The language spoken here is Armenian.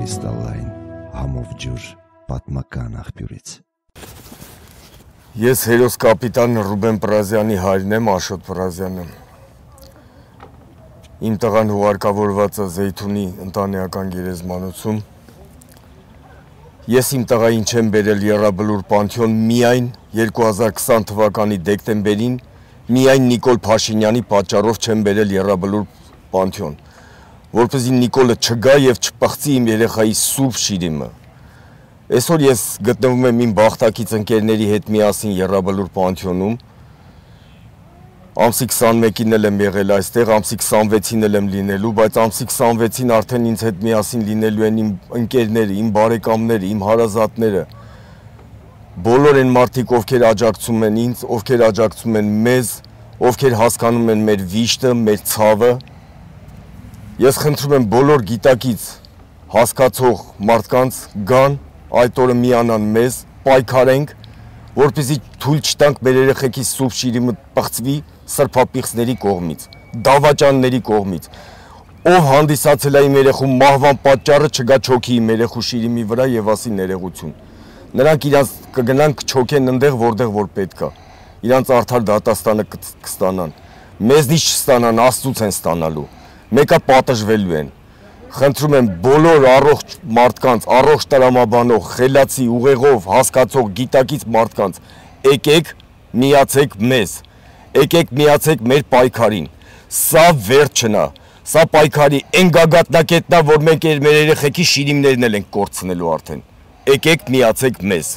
կրիստալային համով ջուր պատմական աղբյուրից։ Ես հերոս կապիտան Ռուբեն Պրազյանի հայրն եմ, Աշոտ Պրազյանը։ Իմ տղան հուղարկավորված է Զեյթունի ընտանեկան գերեզմանոցում։ Ես իմ տղային չեմ բերել Եռաբլուր Պանթեոն միայն 2020 թվականի դեկտեմբերին, միայն Նիկոլ Փաշինյանի պատճառով չեմ բերել Եռաբլուր Պանթեոն, որպեսզի Նիկոլը չգա և չպղծի իմ երեխայի սուրբ շիրիմը։ Այսօր ես գտնվում եմ իմ բախտակից ընկերների հետ միասին Եռաբլուր Պանթեոնում, ամսի 21-ին էլ եմ եղել այստեղ, ամսի 26-ին էլ եմ լինելու, բայց ամսի 26-ին արդեն ինձ հետ միասին լինելու են իմ ընկերները, իմ բարեկամները, իմ հարազատները, բոլոր են մարդիկ, ովքեր աջակցում են ինձ, ովքեր աջակցում են մեզ, ովքեր հասկանում են մեր վիշտը, մեր ցավը։ Ես խնդրում եմ բոլոր գիտակից հասկացող մարդկանց գան, այդ օրը միանան մեզ, պայքարենք, որպեսզի թույլ չտանք մեր երեխեքի սուրբ շիրիմը պղծվի սրբապիղծների կողմից, դավաճանների կողմից, ով հանդիսացել է իմ երեխու մահվան պատճառը չգա չոքի իմ երեխու շիրիմի վրա և ասի ներողություն։ Նրանք իրանց կգնան կչոքեն ընդեղ, որտեղ որ պետք է, իրանց արդար դատաստանը կստանան, մեզնից չստանան, Աստծուց են ստանալու, մեկը պատժվելու են։ Խնդրում եմ բոլոր առողջ մարդկանց, առողջ տրամաբանող, խելացի, ուղեղով, հասկացող, գիտակից մարդկանց, եկեք միացեք մեզ, եկեք միացեք մեր պայքարին, սա վերջն է, սա պայքարի այն գագաթնակետն է, որ մենք մեր երեխեքի շիրիմներն էլ ենք կորցնելու արդեն, եկեք միացեք մեզ։